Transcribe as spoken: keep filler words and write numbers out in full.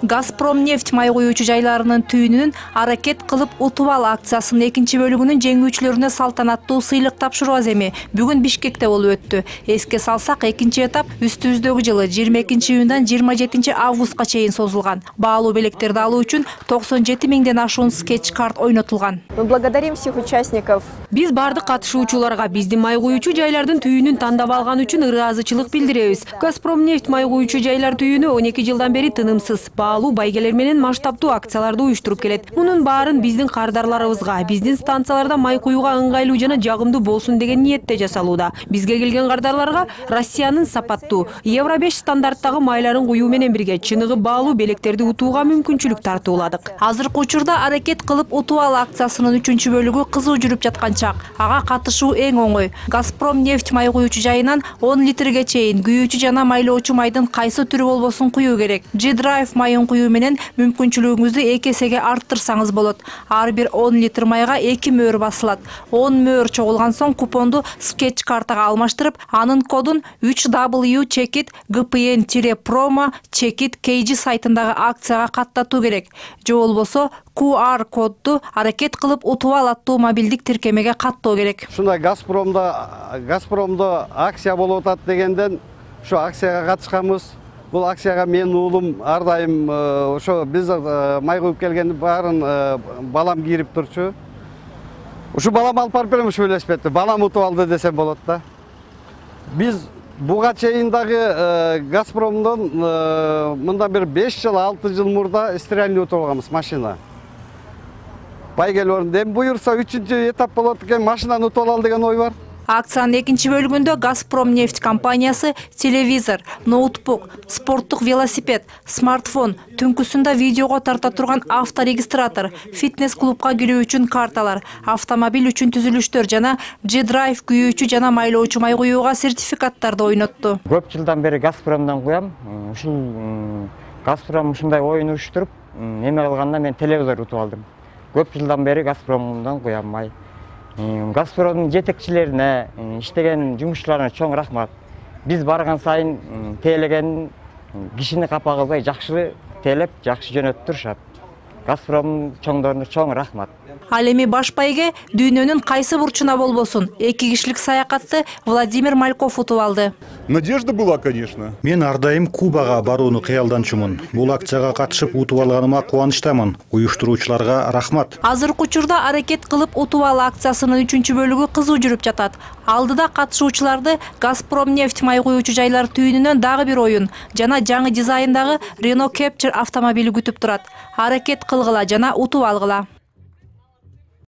Газпромнефть май куюучу жайларынын түйүнүн аракет кылып утуп ал акциясынын экинчи бөлүгүнүн жеңүүчүлөрүнө салтанаттуу сыйлык тапшыруу аземи бүгүн Бишкекте болуп өттү. Эске салсак, экинчи этап үстүбүздөгү жылы жыйырма экинчи июндан жыйырма жетинчи августка чейин созулган. Баалуу белектерди алуу үчүн токсон жети миңден ашуун скетч-карт ойнотулган. Мы благодарим всех участников. Биз бардык катышуучуларга биздин май куюучу жайлардын түйүнүн тандап алган үчүн ыраазычылык билдиребиз. Газпромнефть май куюучу жайлар түйүнү он эки жылдан бери тынымсыз баалуу байгелер менен масштабдуу акцияларды уюштуруп келет. Мунун баарын биздин кардарларыбызга, биздин станцияларда май куюуга ыңгайлуу жана жагымдуу болсун деген ниетте жасалууда. Бизге келген кардарларга Россиянын сапаттуу Евро беш стандарттагы майларын куюу менен бирге чыныгы баалуу белектерди утууга мүмкүнчүлүк тартууладык. Азыркы учурда аракет кылып утуп ал акциясынын үчүнчү бөлүгү кызуу жүрүп жаткан чак. Ага катышуу эң оңой. Газпромнефть май куюучу жайынан он литрге чейин күйүүчү жана майлоочу майдын кайсы түрү болбосун куюу керек. G-Drive майын куюу менен мүмкүнчүлүгүңүздү эки эсеге арттырсаңыз болот. Ар бир он литр майга эки мөөр басылат. он мөөр чогулган соң купонду скетч картага алмаштырып, анын кодун үч W чекит G P N-промо чекит K G сайтындагы акцияга каттатуу керек. Же болбосо Q R кодду аракет кылып утуп ал аттуу мобилдик тиркемеге каттоо керек. Ушундай Газпромдо Газпромдо акция болуп атат дегенден ушу акцияга катышканбыз. Бул акцияга менин уулум ар дайым ошо биз май куюп келгенди баарын балам кирип турчу. Ушу балам алып барып берем, ушу велосипедти. Балам утуп алды десем болот да. Биз буга чейин дагы Газпромдон мындан бери беш жыл, алты жыл мурда стиральный утуп алганбыз машина. Байгелер эми буюрса үчүнчү этап болот экен, машинаны утуп алалы деген ой бар. Акциянын экинчи бөлүгүндө Газпромнефть компаниясы телевизор, ноутбук, спорттук велосипед, смартфон, түнкүсүндө видеого тарта турган авторегистратор, фитнес-клубка кирүү үчүн карталар, автомобиль үчүн түзүлүштөр жана G-Drive күйүүчү жана майлоочу май куюуга сертификаттарды ойнотту. Көп жылдан бери Газпромдон куям. Ушул Газпром ушундай оюн уюштуруп, эме кылганда мен телевизор утуп алдым. Көп жылдан бери Газпромдон куям май. Газпромдун жетекчилерине, иштеген жумушчуларына чоң рахмат. Биз барган сайын тейлеген кишини капа кылбай жакшы тейлеп, жакшы жөнөтүп турушат. Газпром чоңдоруна чоң рахмат. Ал эми баш байге дүйнөнүн кайсы бурчуна болбосун эки кишилик саякатты Владимир Мальков утуп алды. Надежда была, конечно. Мен ар дайым Кубага барууну кыялданчумун. Бул акцияга катышып утуп алганыма кубанычтамын. Уюштуруучуларга рахмат. Азыркы учурда аракет кылып утуп ал акциясынын үчүнчү бөлүгү кызуу жүрүп жатат. Алдыда катышуучуларды Газпромнефть май куюучу жайлар түйүнүнөн дагы бир оюн жана жаңы дизайндагы Renault Captur автомобили күтүп турат. Аракет кылгыла жана утуп алгыла.